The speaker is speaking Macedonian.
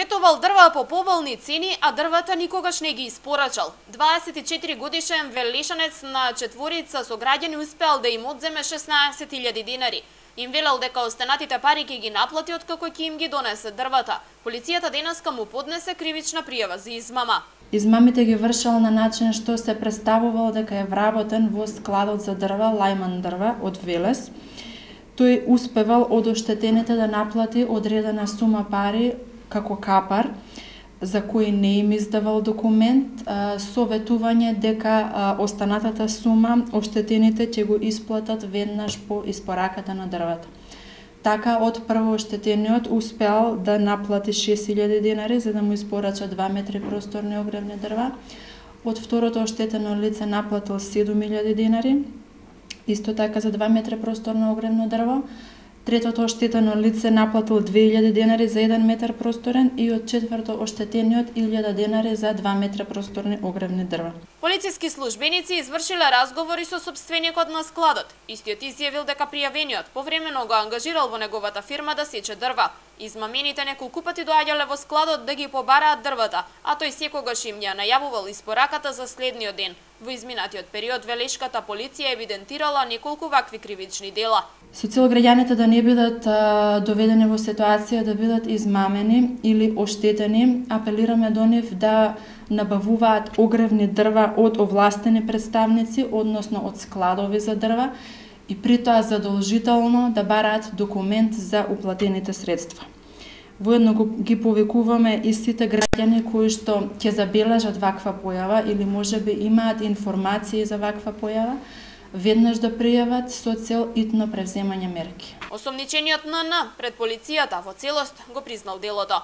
ветувал дрва по поволни цени, а дрвата никогаш не ги испорачал. 24 годишен велишанец на четворица со граѓани успеал да им одземе 16.000 динари. Им велел дека останатите пари ќе ги наплати откако ќе им ги донесе дрвата. Полицијата денеска му поднесе кривична пријава за измама. Измамите ги вршал на начин што се представувал дека е вработен во складот за дрва Лајман дрва од Велес. Тој успевал од оштетените да наплати одредена сума пари како капар, за кој не им издавал документ, со ветување дека останатата сума оштетените ќе го исплатат веднаш по испораката на дрвата. Така, од прво оштетениот успеал да наплати 6.000 динари за да му испорача 2 метри просторни огревни дрва. Од второто оштетено лице наплатил 7.000 динари, исто така за 2 метри просторно огревно дрво. Третото оштетено лице наплатил 2.000 динари за 1 метар просторен и од четврто оштетениот 1.000 динари за 2 метра просторни огревни дрва. Полициски службеници извршиле разговори со сопственикот на складот. Истиот изјавил дека пријавениот повремено го ангажирал во неговата фирма да сече дрва. Измамените неколку пати доаѓале во складот да ги побараат дрвата, а тој секогаш им ја најавувал испораката за следниот ден. Во изминатиот период велешката полиција евидентирала неколку вакви кривични дела. Со цел граѓаните да не бидат доведени во ситуација да бидат измамени или оштетени, апелираме до нив да набавуваат огревни дрва од овластени представници, односно од складови за дрва, и при тоа задолжително да бараат документ за уплатените средства. Воедно ги повикуваме и сите граѓани кои што ќе забележат ваква појава или можеби имаат информации за ваква појава, веднаш да пријават со цел итно превземање мерки. Осомничениот НН пред полицијата во целост го признал делото.